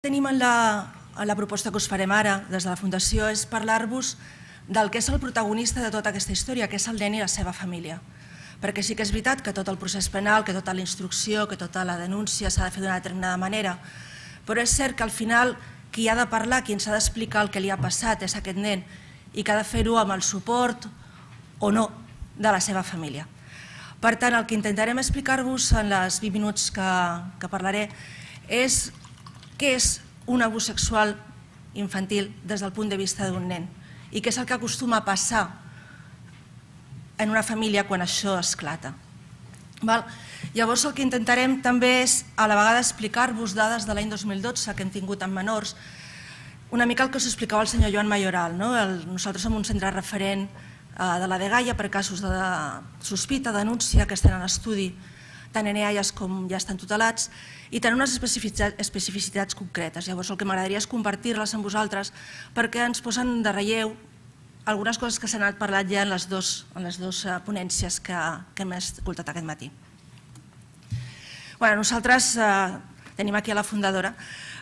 Tenim en la proposta que us farem ara des de la Fundació és parlar-vos del que és el protagonista de tota aquesta història, que és el nen i la seva família. Perquè sí que és veritat que tot el procés penal, que tota la instrucció, que tota la denúncia s'ha de fer d'una determinada manera, però és cert que al final qui ha de parlar, qui ens ha d'explicar el que li ha passat és aquest nen i que ha de fer-ho amb el suport o no de la seva família. Per tant, el que intentarem explicar-vos en els 20 minuts que parlaré és què és un abús sexual infantil des del punt de vista d'un nen i què és el que acostuma a passar en una família quan això esclata. Llavors el que intentarem també és a la vegada explicar-vos dades de l'any 2012 que hem tingut en menors, una mica el que us explicava el senyor Joan Mayoral. Nosaltres som un centre referent de la Dgaia per casos de sospita, denúncia, que estan en estudi tant en EAIAs com ja estan tutelats, i tenen unes especificitats concretes. Llavors el que m'agradaria és compartir-les amb vosaltres perquè ens posen de relleu algunes coses que s'han anat parlant ja en les dues ponències que hem escoltat aquest matí. Nosaltres tenim aquí a la fundadora,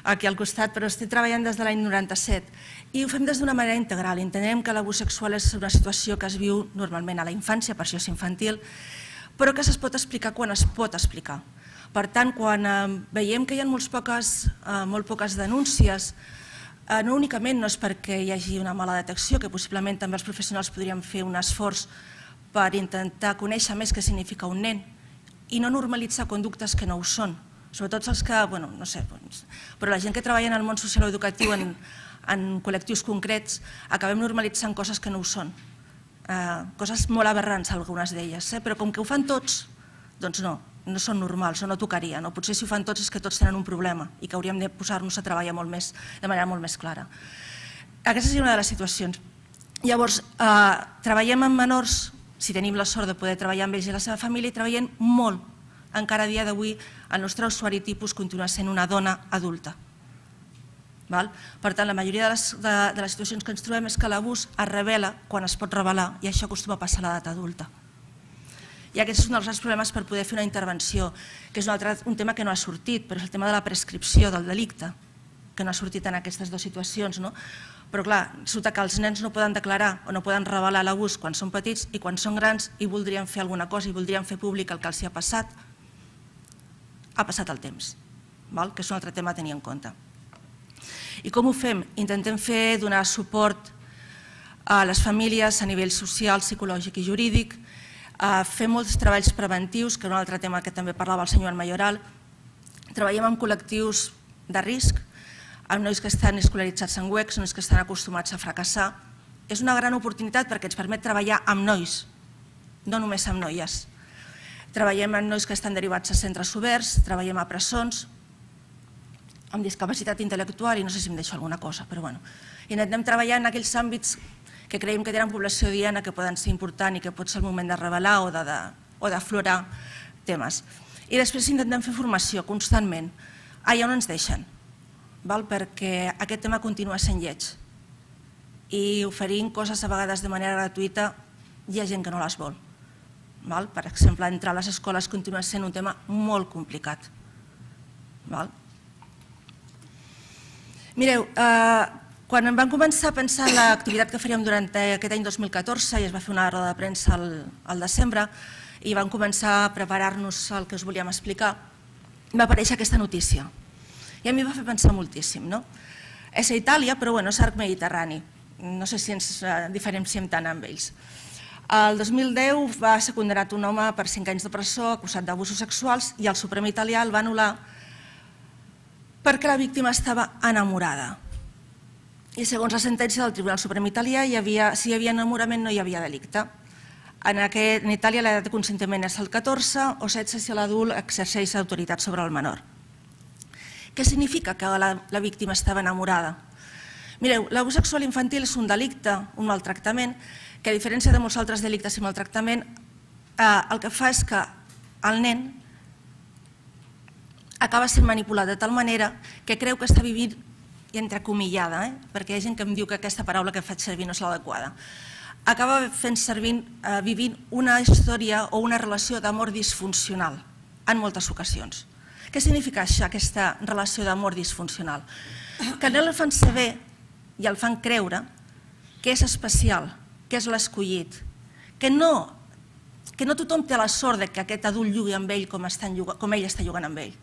aquí al costat, però estic treballant des de l'any 97 i ho fem des d'una manera integral. Entenem que l'abús sexual és una situació que es viu normalment a la infància, per això és infantil, però que es pot explicar quan es pot explicar. Per tant, quan veiem que hi ha molt poques denúncies, no únicament no és perquè hi hagi una mala detecció, que possiblement també els professionals podrien fer un esforç per intentar conèixer més què significa un nen i no normalitzar conductes que no ho són, sobretot els que, no sé, però la gent que treballa en el món social o educatiu en col·lectius concrets acabem normalitzant coses que no ho són. Coses molt aberrants, algunes d'elles, però com que ho fan tots, doncs no són normals, no tocaria. Potser si ho fan tots és que tots tenen un problema i que hauríem de posar-nos a treballar de manera molt més clara. Aquesta seria una de les situacions. Llavors, treballem amb menors, si tenim la sort de poder treballar amb ells i la seva família, i treballem molt. Encara a dia d'avui el nostre usuari tipus continua sent una dona adulta. Per tant, la majoria de les situacions que ens trobem és que l'abús es revela quan es pot revelar i això acostuma a passar a l'edat adulta. I aquest és un dels grans problemes per poder fer una intervenció, que és un tema que no ha sortit, però és el tema de la prescripció del delicte, que no ha sortit en aquestes dues situacions. Però clar, resulta que els nens no poden declarar o no poden revelar l'abús quan són petits i quan són grans i voldrien fer alguna cosa i voldrien fer públic el que els ha passat el temps, que és un altre tema a tenir en compte. I com ho fem? Intentem donar suport a les famílies a nivell social, psicològic i jurídic, fer molts treballs preventius, que és un altre tema que també parlava el senyor Mayoral. Treballem amb col·lectius de risc, amb nois que estan escolaritzats en UECs, nois que estan acostumats a fracassar. És una gran oportunitat perquè ens permet treballar amb nois, no només amb noies. Treballem amb nois que estan derivats a centres oberts, treballem a presons, amb discapacitat intel·lectual i no sé si em deixo alguna cosa, però bueno. Intentem treballar en aquells àmbits que creiem que tenen població diana, que poden ser importants i que pot ser el moment de revelar o d'aflorar temes. I després intentem fer formació constantment, allà on ens deixen, perquè aquest tema continua sent lleig i oferint coses a vegades de manera gratuïta hi ha gent que no les vol. Per exemple, entrar a les escoles continua sent un tema molt complicat. Mireu, quan em van començar a pensar en l'activitat que faríem durant aquest any 2014 i es va fer una roda de premsa al desembre i vam començar a preparar-nos el que us volíem explicar, va aparèixer aquesta notícia i a mi va fer pensar moltíssim. És a Itàlia, però és arc mediterrani, no sé si ens diferenciem tant amb ells. El 2010 va ser condemnat un home per 5 anys de presó acusat d'abusos sexuals i el Suprem italià el va anul·lar perquè la víctima estava enamorada. I segons la sentència del Tribunal Suprem italià, si hi havia enamorament no hi havia delicte. En Itàlia l'edat de consentiment és el 14 o 16 si l'adult exerceix autoritat sobre el menor. Què significa que la víctima estava enamorada? Mireu, l'abús sexual infantil és un delicte, un maltractament, que a diferència de molts altres delictes i maltractament, el que fa és que el nen acaba sent manipulat de tal manera que creu que està vivint, i entrecomillada, perquè hi ha gent que em diu que aquesta paraula que faig servir no és l'adequada, acaba vivint una història o una relació d'amor disfuncional en moltes ocasions. Què significa això, aquesta relació d'amor disfuncional? Que no el fan saber i el fan creure que és especial, que és l'escollit, que no tothom té la sort que aquest adult jugui amb ell com ell està jugant amb ell.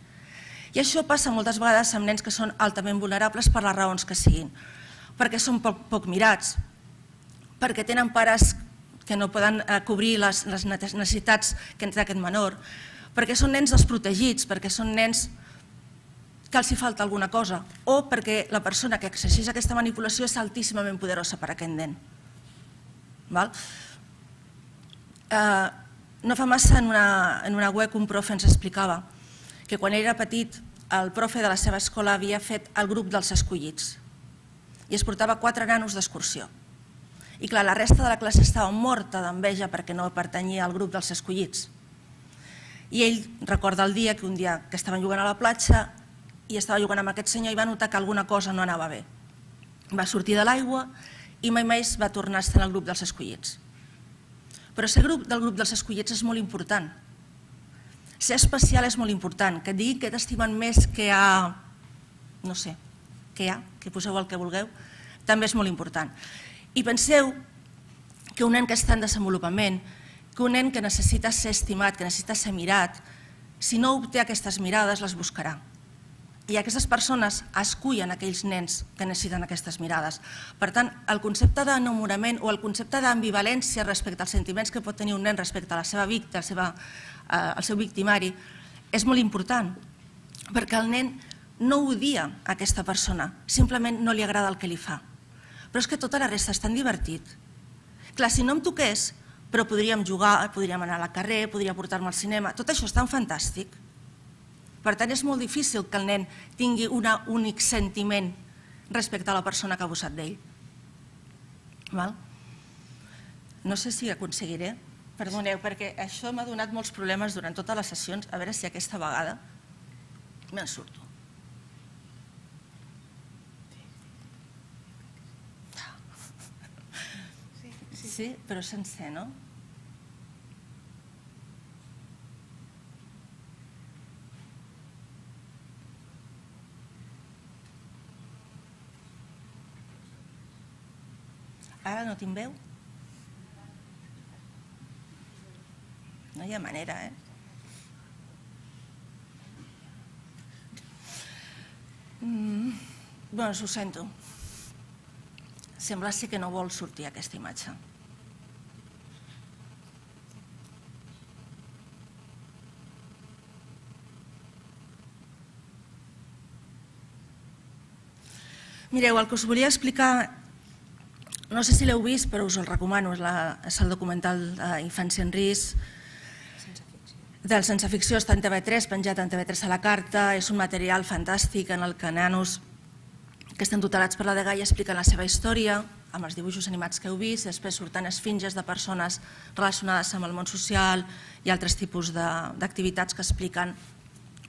I això passa moltes vegades amb nens que són altament vulnerables per les raons que siguin, perquè són poc mirats, perquè tenen pares que no poden cobrir les necessitats que té aquest menor, perquè són nens desprotegits, perquè són nens que els hi falta alguna cosa, o perquè la persona que exerceix aquesta manipulació és altíssimament poderosa per a aquest nen. No fa massa en una web un profe ens explicava que quan era petit el profe de la seva escola havia fet el grup dels escollits i es portava 4 nanos d'excursió. I clar, la resta de la classe estava morta d'enveja perquè no pertanyia al grup dels escollits. I ell recorda el dia que un dia que estaven jugant a la platja i estava jugant amb aquest senyor i va notar que alguna cosa no anava bé. Va sortir de l'aigua i mai més va tornar a estar en el grup dels escollits. Però ser del grup dels escollits és molt important. Ser especial és molt important. Que et digui que t'estimen més que a... no sé, que poseu el que vulgueu, també és molt important. I penseu que un nen que està en desenvolupament, que un nen que necessita ser estimat, que necessita ser mirat, si no obté aquestes mirades, les buscarà. I aquestes persones escullen aquells nens que necessiten aquestes mirades. Per tant, el concepte d'enamorament o el concepte d'ambivalència respecte als sentiments que pot tenir un nen respecte a la seva víctima, al seu victimari, és molt important, perquè el nen no odia aquesta persona, simplement no li agrada el que li fa. Però és que tota la resta és tan divertit. Clar, si no em toqués, però podríem jugar, podríem anar al carrer, podria portar-me al cinema, tot això és tan fantàstic. Per tant, és molt difícil que el nen tingui un únic sentiment respecte a la persona que ha abusat d'ell. No sé si aconseguiré, perdoneu, perquè això m'ha donat molts problemes durant totes les sessions, a veure si aquesta vegada me'n surto. Sí, però sencer, no? Ara no tinc veu? No hi ha manera, Doncs ho sento. Sembla ser que no vol sortir aquesta imatge. Mireu, el que us volia explicar, no sé si l'heu vist, però us el recomano, és el documental Infància en risc, del Sense Ficció, està en TV3, penjat en TV3 a la carta, és un material fantàstic en el que nanos que estan tutelats per la Dgaia expliquen la seva història, amb els dibuixos animats que heu vist, després surten esfinges de persones relacionades amb el món social i altres tipus d'activitats que expliquen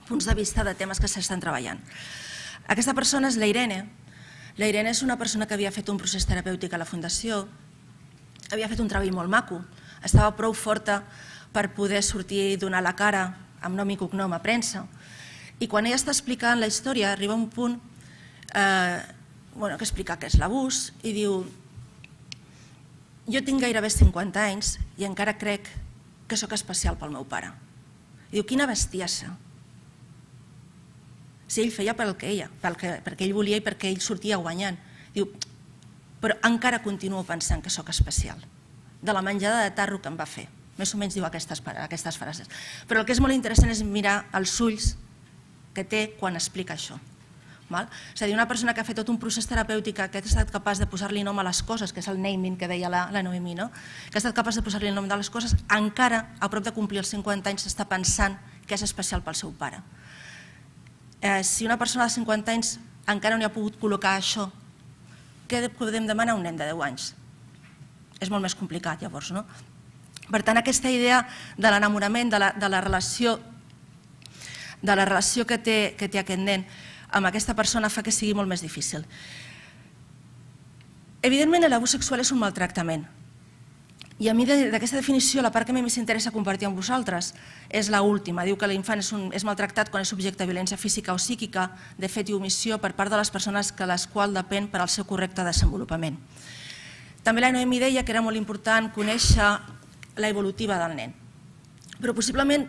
punts de vista de temes que s'estan treballant. Aquesta persona és la Irene. La Irene és una persona que havia fet un procés terapèutic a la Fundació, havia fet un treball molt maco, estava prou forta per poder sortir i donar la cara amb nom i cognom a premsa. I quan ella està explicant la història, arriba un punt que explica què és l'abús i diu: jo tinc gairebé 50 anys i encara crec que sóc especial pel meu pare. Diu, quina bestiassa. Si ell feia perquè ell volia i perquè ell sortia guanyant. Diu, però encara continuo pensant que sóc especial, de la menjada de tarro que em va fer. Més o menys diu aquestes frases. Però el que és molt interessant és mirar els ulls que té quan explica això. És a dir, una persona que ha fet tot un procés terapèutic, que ha estat capaç de posar-li nom a les coses, que és el naming que deia la Noemí, que ha estat capaç de posar-li el nom de les coses, encara, a prop de complir els 50 anys, està pensant que és especial pel seu pare. Si una persona de 50 anys encara no hi ha pogut col·locar això, què podem demanar a un nen de 10 anys? És molt més complicat, llavors, no? Per tant, aquesta idea de l'enamorament, de la relació que té aquest nen amb aquesta persona fa que sigui molt més difícil. Evidentment, l'abús sexual és un maltractament I a mi d'aquesta definició la part que més interessa compartir amb vosaltres és l'última. Diu que l'infant és maltractat quan és subjecte de violència física o psíquica, de fet i omissió per part de les persones que les quals depèn per al seu correcte desenvolupament. També la Noemi deia que era molt important conèixer la evolutiva del nen. Però possiblement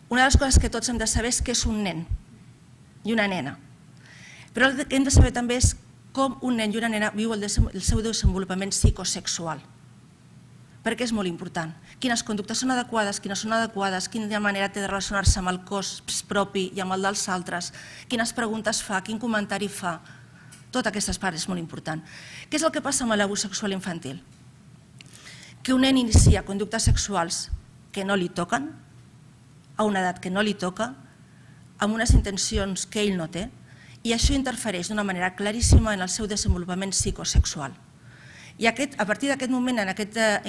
una de les coses que tots hem de saber és què és un nen i una nena. Però el que hem de saber també és com un nen i una nena viu el seu desenvolupament psicosexual. Perquè és molt important. Quines conductes són adequades, quines són adequades, quina manera té de relacionar-se amb el cos propi i amb el dels altres, quines preguntes fa, quin comentari fa. Tota aquesta part és molt important. Què és el que passa amb l'abús sexual infantil? Que un nen inicia conductes sexuals que no li toquen, a una edat que no li toca, amb unes intencions que ell no té, i això interfereix d'una manera claríssima en el seu desenvolupament psicosexual. I a partir d'aquest moment, en aquesta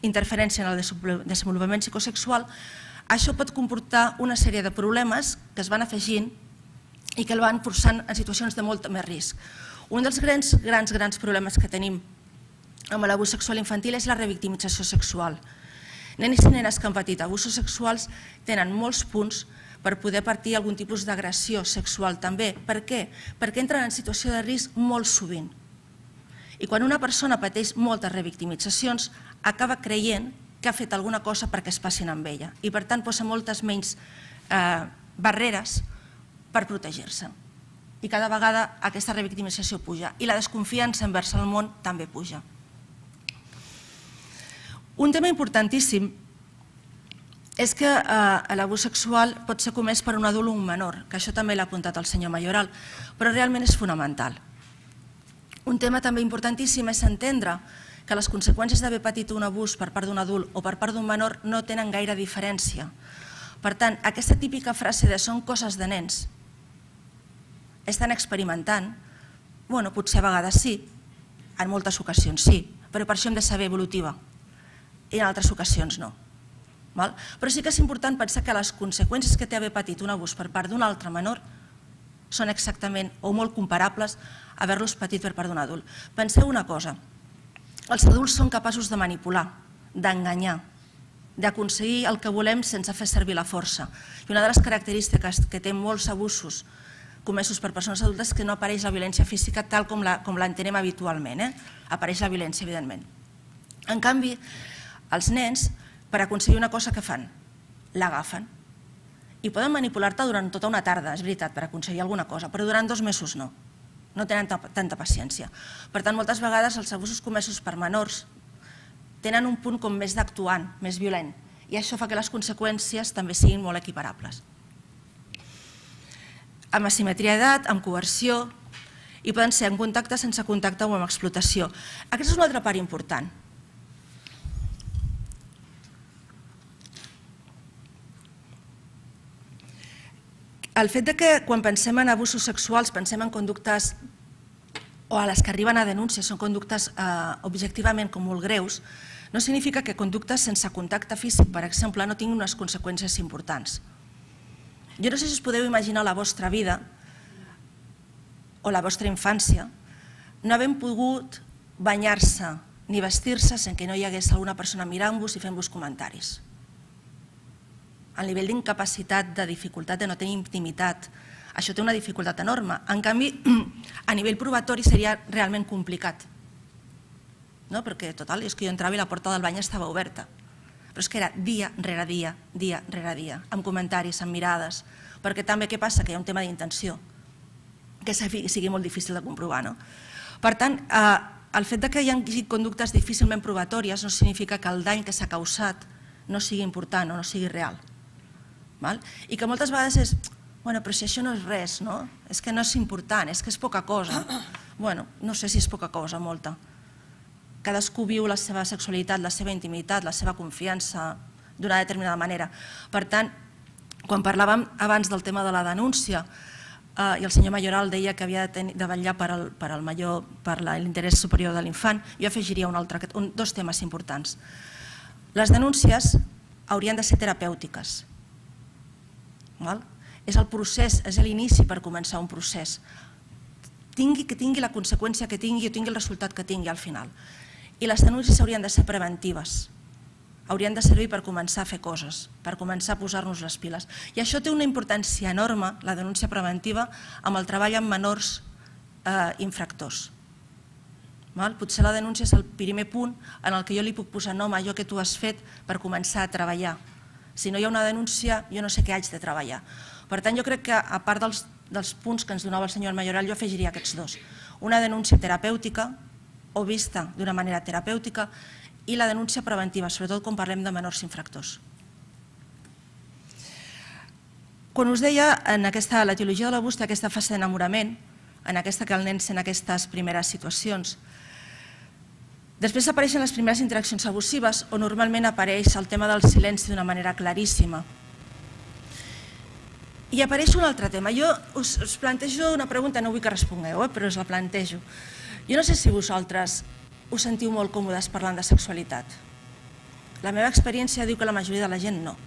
interferència en el desenvolupament psicosexual, això pot comportar una sèrie de problemes que es van afegint i que el van forçant en situacions de molt més risc. Un dels grans problemes que tenim amb l'abús sexual infantil és la revictimització sexual. Nens i nenes que han patit abusos sexuals tenen molts punts per poder patir algun tipus d'agressió sexual també. Per què? Perquè entren en situació de risc molt sovint. I quan una persona pateix moltes revictimitzacions, acaba creient que ha fet alguna cosa perquè es passin amb ella i per tant posa moltes menys barreres per protegir-se. I cada vegada aquesta revictimització puja i la desconfiança envers el món també puja. Un tema importantíssim és que l'abús sexual pot ser comès per un adult o un menor, que això també l'ha apuntat el senyor Mayoral, però realment és fonamental. Un tema també importantíssim és entendre que les conseqüències d'haver patit un abús per part d'un adult o per part d'un menor no tenen gaire diferència. Per tant, aquesta típica frase de són coses de nens, estan experimentant, potser a vegades sí, en moltes ocasions sí, però per això hem de saber evolutiva i en altres ocasions no. Però sí que és important pensar que les conseqüències que té haver patit un abús per part d'un altre menor són exactament o molt comparables a haver-los patit per part d'un adult. Penseu una cosa, els adults són capaços de manipular, d'enganyar, d'aconseguir el que volem sense fer servir la força. I una de les característiques que té molts abusos comesos per persones adultes és que no apareix la violència física tal com l'entenem habitualment. Apareix la violència, evidentment. En canvi, els nens, per aconseguir una cosa que fan, l'agafen. I poden manipular-te durant tota una tarda, és veritat, per aconseguir alguna cosa, però durant 2 mesos no. No tenen tanta paciència. Per tant, moltes vegades els abusos comesos per menors tenen un punt com més d'actuant, més violent, i això fa que les conseqüències també siguin molt equiparables. Amb asimetria d'edat, amb coerció, i poden ser en contacte, sense contacte o amb explotació. Aquesta és una altra part important. El fet que quan pensem en abusos sexuals pensem en conductes o a les que arriben a denúncies són conductes objectivament com molt greus, no significa que conductes sense contacte físic, per exemple, no tinguin unes conseqüències importants. Jo no sé si us podeu imaginar la vostra vida o la vostra infància no havent pogut banyar-se ni vestir-se sense que no hi hagués alguna persona mirant-vos i fent-vos comentaris. El nivell d'incapacitat, de dificultat, de no tenir intimitat, això té una dificultat enorme. En canvi, a nivell probatori seria realment complicat. Perquè, total, és que jo entrava i la porta del bany estava oberta. Però és que era dia rere dia, dia rere dia, amb comentaris, amb mirades, perquè també què passa? Que hi ha un tema d'intenció, que sigui molt difícil de comprovar. Per tant, el fet que hi hagi conductes difícilment probatòries no significa que el dany que s'ha causat no sigui important o no sigui real. I que moltes vegades és, però si això no és res, és que no és important, és que és poca cosa. No sé si és poca cosa, molta. Cadascú viu la seva sexualitat, la seva intimitat, la seva confiança d'una determinada manera. Per tant, quan parlàvem abans del tema de la denúncia i el senyor Mayoral deia que havia de vetllar per l'interès superior de l'infant, jo afegiria dos temes importants. Les denúncies haurien de ser terapèutiques. És el procés, és l'inici per començar un procés. Que tingui la conseqüència que tingui o tingui el resultat que tingui al final. I les denúncies haurien de ser preventives, haurien de servir per començar a fer coses, per començar a posar-nos les piles. I això té una importància enorme, la denúncia preventiva, amb el treball amb menors infractors. Potser la denúncia és el primer punt en el que jo li puc posar nom a allò que tu has fet per començar a treballar. Si no hi ha una denúncia, jo no sé què haig de treballar. Per tant, jo crec que, a part dels punts que ens donava el senyor Mayoral, jo afegiria aquests dos. Una denúncia terapèutica, o vista d'una manera terapèutica, i la denúncia preventiva, sobretot quan parlem de menors infractors. Quan us deia, en la teologia de l'abús té aquesta fase d'enamorament, en aquesta que el nen sent aquestes primeres situacions. Després apareixen les primeres interaccions abusives, on normalment apareix el tema del silenci d'una manera claríssima. I apareix un altre tema. Jo us plantejo una pregunta, no vull que respongueu, però us la plantejo. Jo no sé si vosaltres us sentiu molt còmodes parlant de sexualitat. La meva experiència diu que la majoria de la gent no.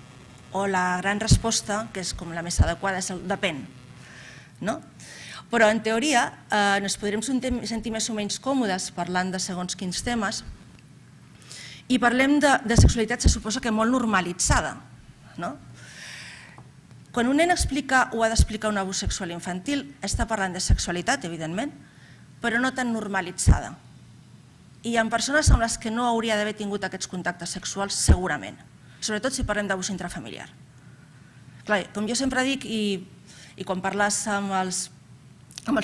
O la gran resposta, que és com la més adequada, és el depèn. Però en teoria ens podrem sentir més o menys còmodes parlant de segons quins temes i parlem de sexualitat, se suposa que molt normalitzada. Quan un nen explica o ha d'explicar un abús sexual infantil, està parlant de sexualitat, evidentment, però no tan normalitzada. I hi ha persones amb les que no hauria d'haver tingut aquests contactes sexuals, segurament, sobretot si parlem d'abús intrafamiliar. Com jo sempre dic, i quan parles amb els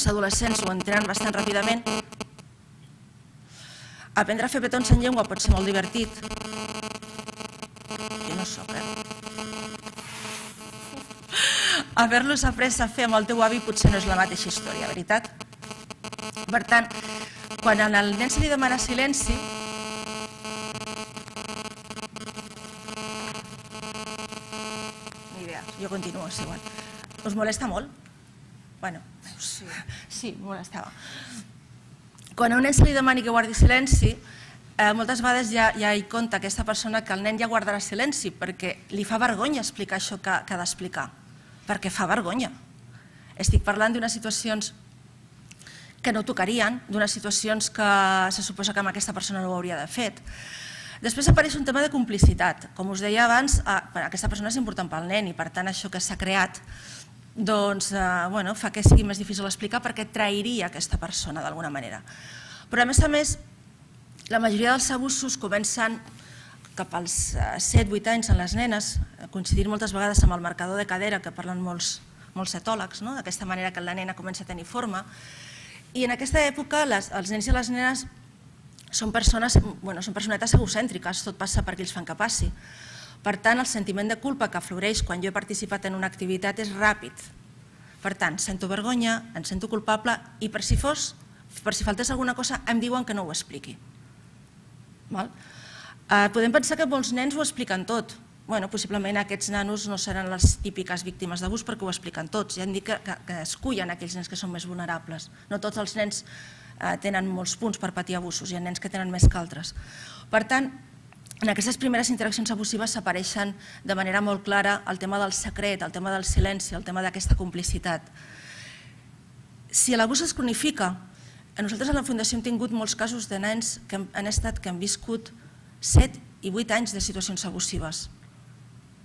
adolescents ho entenen bastant ràpidament, aprendre a fer petons en llengua pot ser molt divertit. Jo no soc, Haver-los après a fer amb el teu avi potser no és la mateixa història, veritat? Per tant, quan al nen se li demana silenci, ni idea, jo continuo, és igual. Us molesta molt? Bueno, sí, molestava. Quan a un nen se li demani que guardi silenci, moltes vegades ja hi compta aquesta persona que el nen ja guardarà silenci perquè li fa vergonya explicar això que ha d'explicar, perquè fa vergonya. Estic parlant d'unes situacions que no tocarien, d'unes situacions que se suposa que amb aquesta persona no ho hauria d'haver fet. Després apareix un tema de complicitat. Com us deia abans, aquesta persona és important pel nen i per tant això que s'ha creat fa que sigui més difícil explicar perquè trairia aquesta persona d'alguna manera. Però a més, la majoria dels abusos comencen cap als 7-8 anys en les nenes, coincidint moltes vegades amb el marcador de cadera que parlen molts etòlegs, d'aquesta manera que la nena comença a tenir forma. I en aquesta època els nens i les nenes són personetes egocèntriques, tot passa perquè ells fan que passi. Per tant, el sentiment de culpa que afloreix quan jo he participat en una activitat és ràpid. Per tant, sento vergonya, em sento culpable i per si faltés alguna cosa em diuen que no ho expliqui. Podem pensar que molts nens ho expliquen tot. Possiblement aquests nanos no seran les típiques víctimes d'abús perquè ho expliquen tots. Ja hem dit que es cullen aquells nens que són més vulnerables. No tots els nens tenen molts punts per patir abusos, hi ha nens que tenen més que altres. Per tant, en aquestes primeres interaccions abusives s'apareixen de manera molt clara el tema del secret, el tema del silenci, el tema d'aquesta complicitat. Si l'abús es cronifica, nosaltres a la Fundació hem tingut molts casos de nens que han viscut 7 i 8 anys de situacions abusives.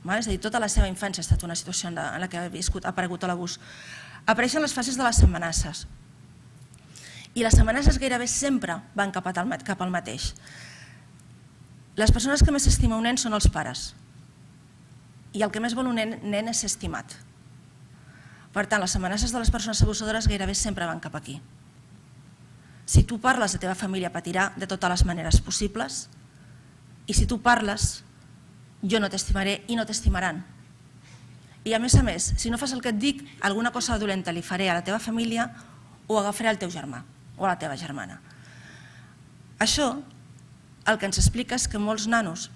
És a dir, tota la seva infància ha estat una situació en la que ha aparegut l'abús. Apareixen les fases de les amenaces. I les amenaces gairebé sempre van cap al mateix. Les persones que més estima un nen són els pares. I el que més vol un nen és ser estimat. Per tant, les amenaces de les persones abusadores gairebé sempre van cap aquí. Si tu parles, la teva família patirà de totes les maneres possibles i si tu parles, jo no t'estimaré i no t'estimaran. I a més, si no fas el que et dic, alguna cosa dolenta li faré a la teva família o agafaré al teu germà o a la teva germana. Això el que ens explica és que molts nanos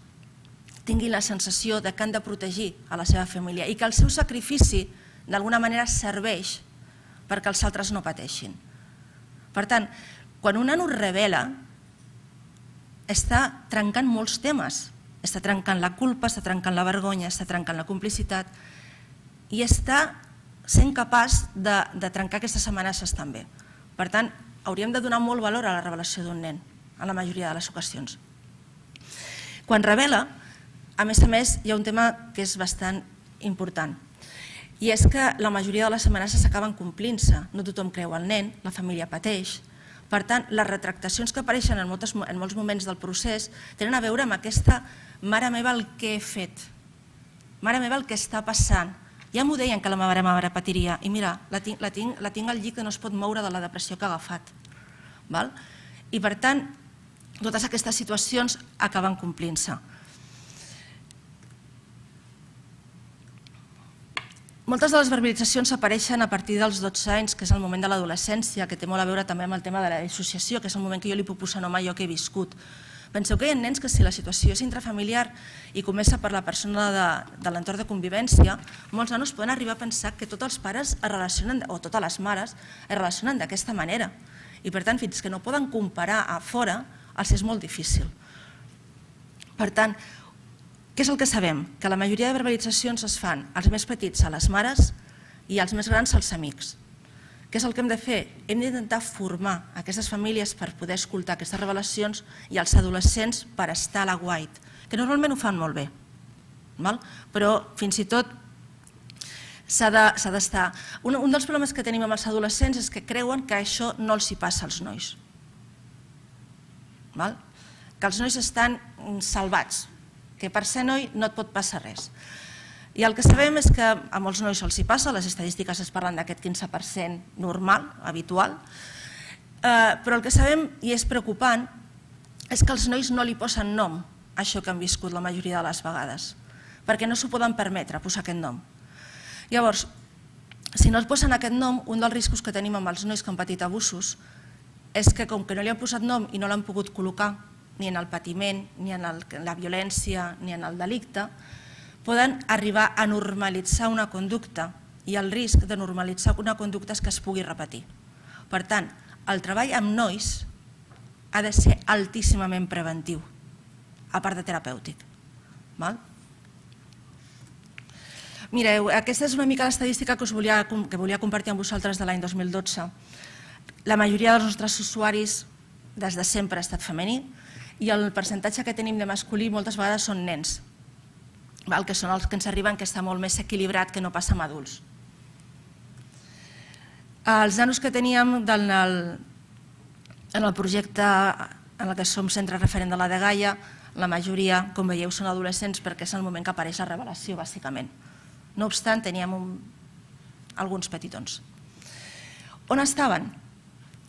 tinguin la sensació que han de protegir a la seva família i que el seu sacrifici d'alguna manera serveix perquè els altres no pateixin. Per tant, quan un nano es revela, està trencant molts temes. Està trencant la culpa, està trencant la vergonya, està trencant la complicitat i està sent capaç de trencar aquestes amenaces també. Per tant, hauríem de donar molt valor a la revelació d'un nen. en la majoria de les ocasions. Quan revela, a més, hi ha un tema que és bastant important, i és que la majoria de les amenaces s'acaben complint-se. No tothom creu el nen, la família pateix. Per tant, les retractacions que apareixen en molts moments del procés tenen a veure amb aquesta mare meva el que he fet, mare meva el que està passant. Ja m'ho deien que la meva mare patiria i mira, la tinc al llit que no es pot moure de la depressió que ha agafat. I per tant, totes aquestes situacions acaben complint-se. Moltes de les verbalitzacions apareixen a partir dels 12 anys, que és el moment de l'adolescència, que té molt a veure també amb el tema de la dissociació, que és el moment que jo li puc posar nom a allò que he viscut. Penseu que hi ha nens que si la situació és intrafamiliar i comença per la persona de l'entorn de convivència, molts nanos poden arribar a pensar que tots els pares es relacionen, o totes les mares es relacionen d'aquesta manera. I per tant, fins que no poden comparar a fora, els és molt difícil. Per tant, què és el que sabem? Que la majoria de verbalitzacions es fan als més petits a les mares i als més grans als amics. Què és el que hem de fer? Hem d'intentar formar aquestes famílies per poder escoltar aquestes revelacions i els adolescents per estar a l'aguait, que normalment ho fan molt bé, però fins i tot s'ha d'estar. Un dels problemes que tenim amb els adolescents és que creuen que això no els hi passa als nois, que els nois estan salvats, que per ser noi no et pot passar res. I el que sabem és que a molts nois els hi passa, les estadístiques es parlen d'aquest 15% normal, habitual, però el que sabem, i és preocupant, és que els nois no li posen nom a això que han viscut la majoria de les vegades, perquè no s'ho poden permetre, posar aquest nom. Llavors, si no es posen aquest nom, un dels riscos que tenim amb els nois que han patit abusos és que com que no li han posat nom i no l'han pogut col·locar ni en el patiment, ni en la violència, ni en el delicte, poden arribar a normalitzar una conducta i el risc de normalitzar una conducta és que es pugui repetir. Per tant, el treball amb nois ha de ser altíssimament preventiu, a part de terapèutic. Mireu, aquesta és una mica l'estadística que volia compartir amb vosaltres de l'any 2012. La majoria dels nostres usuaris des de sempre ha estat femení i el percentatge que tenim de masculí moltes vegades són nens, que són els que ens arriben, que està molt més equilibrat que no passa amb adults. Els nanos que teníem en el projecte en què som centre referent de la Dgaia, la majoria, com veieu, són adolescents perquè és el moment que apareix la revelació, bàsicament. No obstant, teníem alguns petitons. On estaven?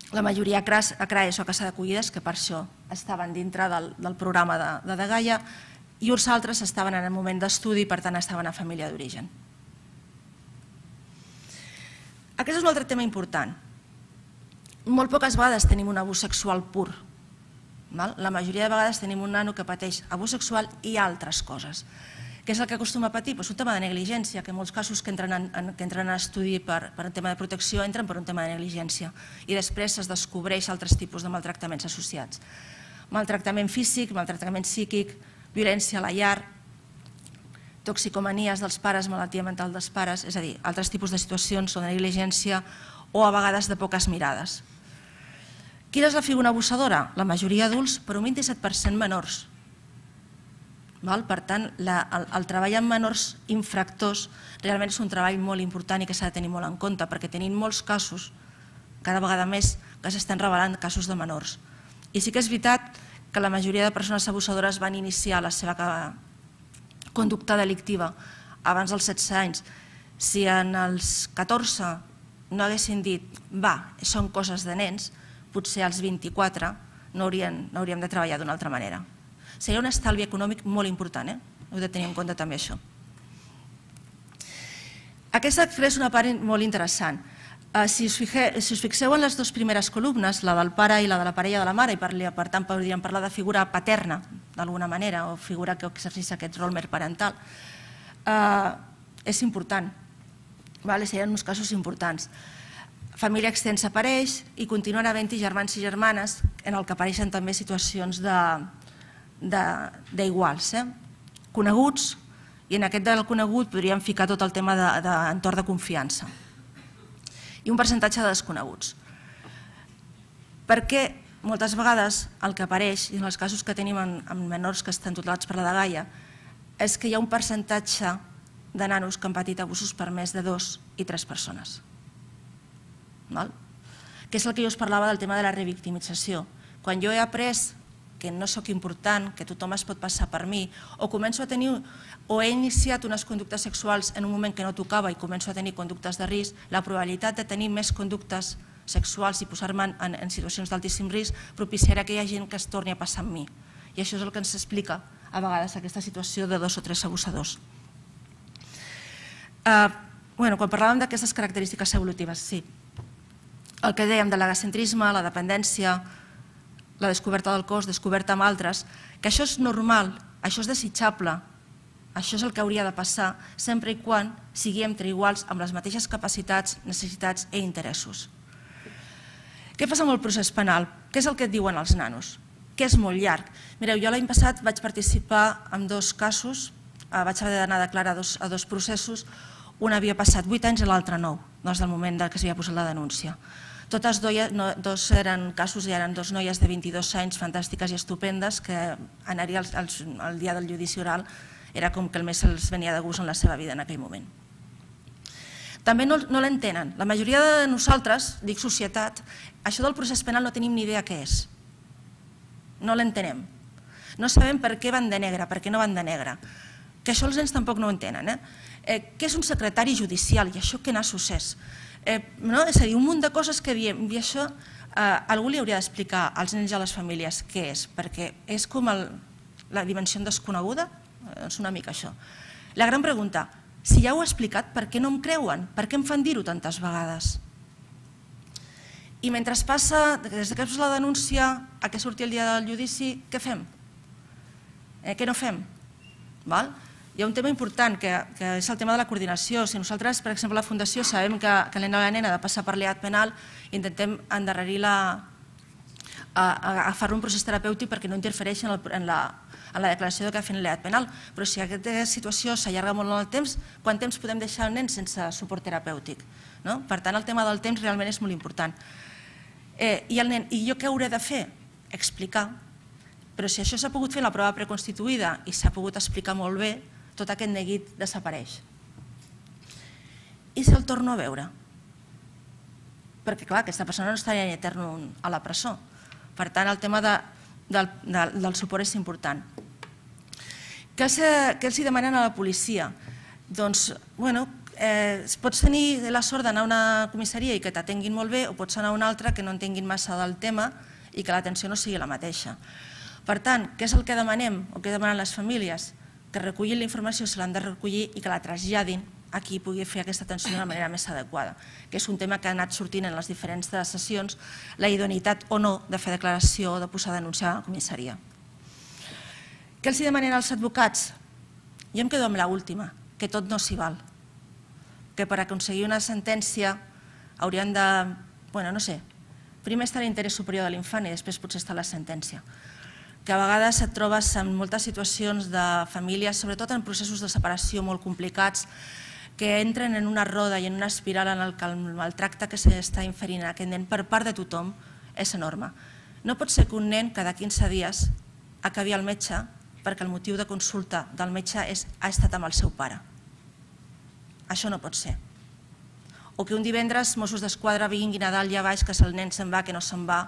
La majoria a CRAES o a Casa d'Acollides, que per això estaven dintre del programa de Dgaia, i uns altres estaven en el moment d'estudi i per tant estaven a família d'origen. Aquest és un altre tema important. Molt poques vegades tenim un abús sexual pur. La majoria de vegades tenim un nano que pateix abús sexual i altres coses. Què és el que acostuma a patir? Un tema de negligència, que en molts casos que entren a estudi per un tema de protecció entren per un tema de negligència i després es descobreix altres tipus de maltractaments associats. Maltractament físic, maltractament psíquic, violència a la llar, toxicomanies dels pares, malaltia mental dels pares, és a dir, altres tipus de situacions o de negligència o a vegades de poques mirades. Quina és la figura abusadora? La majoria adults, però un 27% menors. Per tant, el treball amb menors infractors realment és un treball molt important i que s'ha de tenir molt en compte, perquè tenim molts casos, cada vegada més, que s'estan revelant casos de menors. I sí que és veritat que la majoria de persones abusadores van iniciar la seva conducta delictiva abans dels 16 anys. Si en els 14 no haguessin dit, són coses de nens, potser als 24 no hauríem de treballar d'una altra manera. Seria un estalvi econòmic molt important, heu de tenir en compte també això. Aquesta és una part molt interessant. Si us fixeu en les dues primeres columnes, la del pare i la de la parella de la mare, i per tant podríem parlar de figura paterna, d'alguna manera, o figura que exerceix aquest rol mer parental, és important. Serien uns casos importants. Família extensa apareix i continuen havent-hi germans i germanes en el que apareixen també situacions d'iguals, coneguts, i en aquest del conegut podríem ficar tot el tema d'entorn de confiança i un percentatge de desconeguts. Per què moltes vegades el que apareix, i en els casos que tenim en menors que estan tutelats per la dgaia, és que hi ha un percentatge de nanos que han patit abusos per més de 2 i 3 persones. Que és el que jo us parlava del tema de la revictimització. Quan jo he après que no sóc important, que tothom es pot passar per mi, o començo a tenir, o he iniciat unes conductes sexuals en un moment que no tocava i començo a tenir conductes de risc, la probabilitat de tenir més conductes sexuals i posar-me en situacions d'altíssim risc propiciarà que hi ha gent que es torni a passar amb mi. I això és el que ens explica a vegades aquesta situació de 2 o 3 abusadors. Quan parlàvem d'aquestes característiques evolutives, sí. El que dèiem de l'egocentrisme, la dependència, la descoberta del cos, descoberta amb altres, que això és normal, això és desitjable, això és el que hauria de passar, sempre i quan sigui entre iguals amb les mateixes capacitats, necessitats i interessos. Què passa amb el procés penal? Què és el que et diuen els nanos? Que és molt llarg. Mireu, jo l'any passat vaig participar en 2 casos, vaig haver d'anar a declarar a 2 processos, un havia passat 8 anys i l'altre 9, des del moment que s'havia posat la denúncia. Totes 2 eren casos i eren 2 noies de 22 anys fantàstiques i estupendes que anar-hi el dia del judici oral era com que el més els venia de gust en la seva vida en aquell moment. També no l'entenen. La majoria de nosaltres, dic societat, això del procés penal no tenim ni idea què és. No l'entenem. No sabem per què van de negre, per què no van de negre. Que això els nens tampoc no ho entenen. Què és un secretari judicial i això què nassos és? És a dir, un munt de coses que diem i això algú li hauria d'explicar als nens i a les famílies què és, perquè és com la dimensió desconeguda, és una mica això. La gran pregunta, si ja ho he explicat, per què no em creuen? Per què em fan dir-ho tantes vegades? I mentre es passa, des que es posa la denúncia a que surti el dia del judici, què fem? Què no fem? Hi ha un tema important, que és el tema de la coordinació. Si nosaltres, per exemple, a la Fundació, sabem que el nen o la nena ha de passar per l'EAT penal, intentem endarrerir-la, agafar-lo un procés terapèutic perquè no interfereixi en la declaració que ha fet l'EAT penal. Però si aquesta situació s'allarga molt en el temps, quant temps podem deixar el nen sense suport terapèutic? Per tant, el tema del temps realment és molt important. I jo què hauré de fer? Explicar. Però si això s'ha pogut fer en la prova preconstituïda i s'ha pogut explicar molt bé, tot aquest neguit desapareix. I si el torno a veure? Perquè, clar, aquesta persona no estaria ni etern a la presó. Per tant, el tema del suport és important. Què els demanen a la policia? Doncs, pots tenir la sort d'anar a una comissaria i que t'atenguin molt bé, o pots anar a una altra que no entenguin massa del tema i que l'atenció no sigui la mateixa. Per tant, què és el que demanem o què demanen les famílies? Que recullin la informació, se l'han de recollir i que la traslladin a qui pugui fer aquesta atenció d'una manera més adequada, que és un tema que ha anat sortint en les diferents sessions, la idoneïtat o no de fer declaració o de posar a denunciar a la comissaria. Què els demanen als advocats? Jo em quedo amb l'última, que tot no s'hi val, que per aconseguir una sentència haurien de, primer està l'interès superior de l'infant i després potser està la sentència. Que a vegades et trobes en moltes situacions de famílies, sobretot en processos de separació molt complicats, que entren en una roda i en una espiral en què el maltracte que s'està inferint a aquest nen per part de tothom és enorme. No pot ser que un nen cada 15 dies acabi al metge perquè el motiu de consulta del metge ha estat amb el seu pare. Això no pot ser. O que un divendres Mossos d'Esquadra vinguin a dalt i a baix, que el nen se'n va, que no se'n va,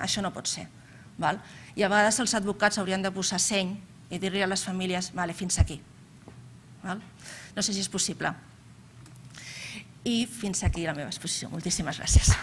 això no pot ser. I a vegades els advocats haurien de posar seny i dir-li a les famílies fins aquí. No sé si és possible. I fins aquí la meva exposició. Moltíssimes gràcies.